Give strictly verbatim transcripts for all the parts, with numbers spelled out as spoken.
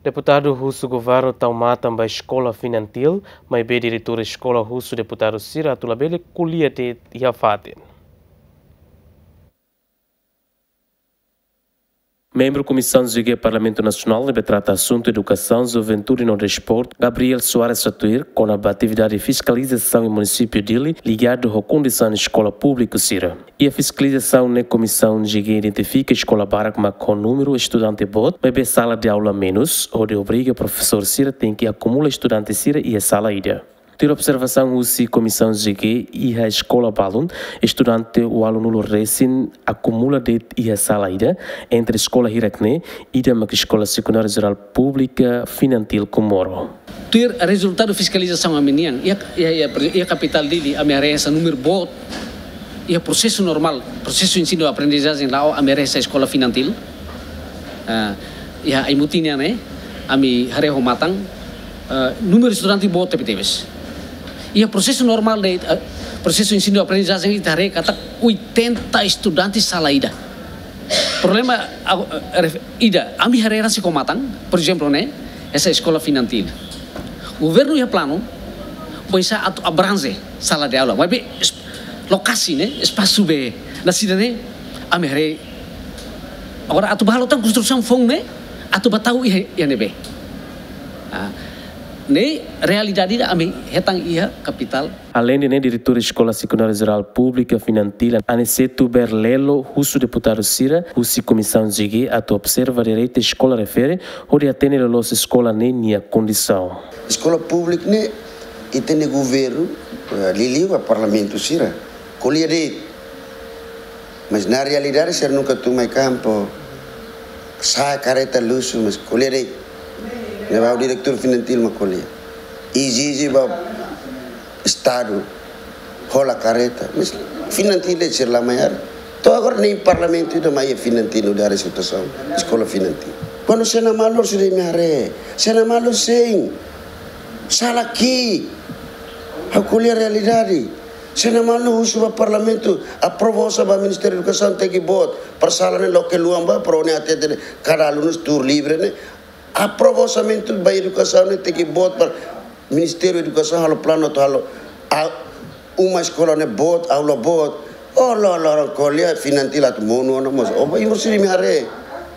Deputadu husu governu tau matan ba eskola Finantil, maibé diretór eskola husu deputadu sira atu labele ko'alia de'it iha fatin. Membru Komisaun G G Parlamentu Nasionál ne'ebé trata asuntu edukasaun, juventude no desportu, Gabriel Soares, hatutan kona-ba atividade fiskalizasaun iha munisípiu Dili, ligadu ho kondisaun eskola públiku sira. Iha fiskalizasaun ne'e Komisaun G G identifika eskola barak mak ho númeru estudante boot, maibé sala de aula menus, hodi obriga profesór sira tenke akumula estudante sira iha sala ida. Tuir observasaun husi Komisaun G G, iha eskola balun, estudante ualunulu resin akumula de'it iha sala ida, entre eskola hirak ne'e, ida mak Eskola Sekundária Jerál Públika Finantil Comoro. Tuir rezultadu fiskalizasaun ami-nian, iha, iha, iha, iha kapitál Dili, ami haree hanesan númeru boot, iha prosesu normál, prosesu ensinu aprendizajen la'o, ami haree hanesan eskola Finantil. Ah, iha Aimutin nian, eh, ami haree ho matan, eh, númeru estudante boot tebetebes. Iha prosesu normál de, eh, prosesu ensinu aprendizajen ita haree katak oitenta estudante sala ida. Problema, ah, eh, ref-, ida, ami haree rasik ho matan, por ezemplu, ne'e, hanesan eskola Finantil. Governu iha planu, oinsá atu abrange sala de aula. Maibé es-, lokasi ne'e, espasu be, na sida ne'e, ami haree. Agora atu ba halo tan konstrusaun foun ne'e, atu ba tau iha, iha ne'ebé. Ah, ne'e realidade ida ami hetan iha kapitál. Aleinde ne'e, diretór Eskola Sekundária Jerál Públika Finantil, Aniceto Berlelo, husu deputadu sira husi Komisaun G G atu observa direitu eskola refere, hodi atende loloos eskola ne'e nia kondisaun. Eskola públika ne'e, ita-nia governu, eh, liuliu ba parlamentu sira, ko'alia de'it. Mas na realidade sira nunka tun mai kampu. Sa'e karreta luxu, mas ko'alia de'it. Ne'ebé diretór Finantil mak ko'alia. Ezije ba Estadu hola karreta, mas Finantil de'it sira la mai haree. To'o agora nein parlamentu ida mai iha Finantil, no dari situasaun eskola Finantil. Kuandu sena malur sira imi haree, sena malur sein. Sala ki'ik. Ha'u ko'alia realidade. Sena malur husu ba parlamentu, aprova osan ba Ministériu Edukasaun tenke boot, para sala ne'e loke luan ba, para ne'e hatete kada alunu tuur livre ne'e. Aprova orsamentu ba edukasaun ne'e tenke boot para Ministériu Edukasaun halo planu atu halo a-, uma eskola ne'e boot, aula boot. Oh, la, la, la, ko'alia Finantil atu monu ona mós. Oh, ba imur sira imi haree.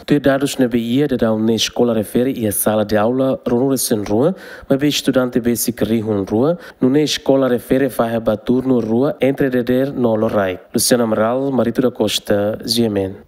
Tuir dadus ne'ebé iha, daudaun ne'e eskola refere iha sala de aula ruanulu-resin-rua, maibé estudante besik rihun rua, nune'e eskola refere fahe ba turnu rua entre dadeer no loraik. Luciano Amaral, Marito da Costa, G M N.